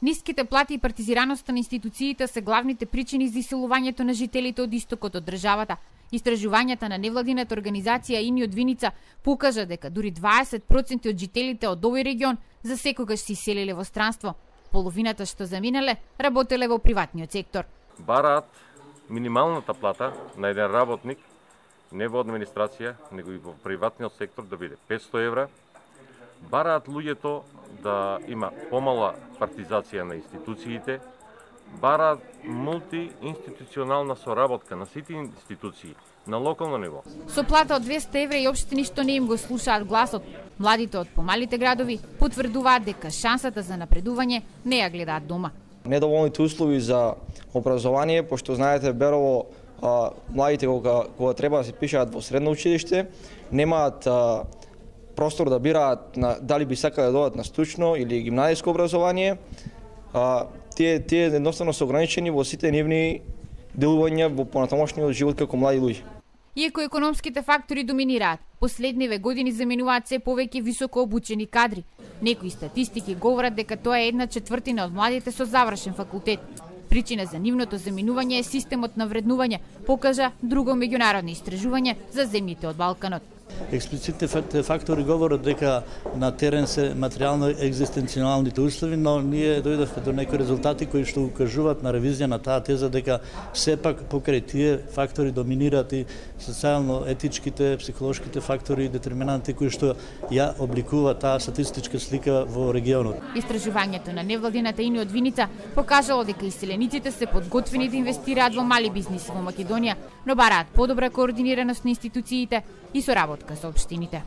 Ниските плати и партизираноста на институциите се главните причини за иселувањето на жителите од истокот од државата. Истражувањата на невладината организација Ини од Виница покажа дека дури 20% од жителите од овој регион за секогаш се иселиле во странство. Половината што заминале работеле во приватниот сектор. Бараат минималната плата на еден работник не во администрација, него и во приватниот сектор да биде 500 евра. Бараат луѓето да има помала партизација на институциите, бараат мултиинституционална соработка на сите институции на локално ниво. Со плата од 200 евра и општини што не им го слушаат гласот, младите од помалите градови потврдуваат дека шансата за напредување не ја гледаат дома. Недоволните услови за образование, пошто знаете Берово младите кога треба да се пишаат во средно училиште, немаат простор да бираат дали би сакале да додат на стручно или гимназиско образование. Тие едноставно се ограничени во сите нивни делувања во понатамошниот живот како млади луѓе. Иако економските фактори доминираат, последниве години заменуваат се повеќе високо обучени кадри. Некои статистики говорат дека тоа е 1/4 од младите со завршен факултет. Причина за нивното заминување е системот на вреднување, покажа друго меѓународно истражување за земјите од Балканот. Експлицитните фактори говорат дека на терен се материјално екзистенцијалните услови, но ние дојдовме до некои резултати кои што укажуваат на ревизија на таа теза дека сепак покрај тие фактори доминираат и социјално-етичките, психолошките фактори и детерминанти кои што ја обликува таа статистичка слика во регионот. Истражувањето на невладината Ини од Виница покажало дека иселениците се подготвени да инвестираат во мали бизниси во Македонија, но бараат подобра координираност на институциите и соработка со општините.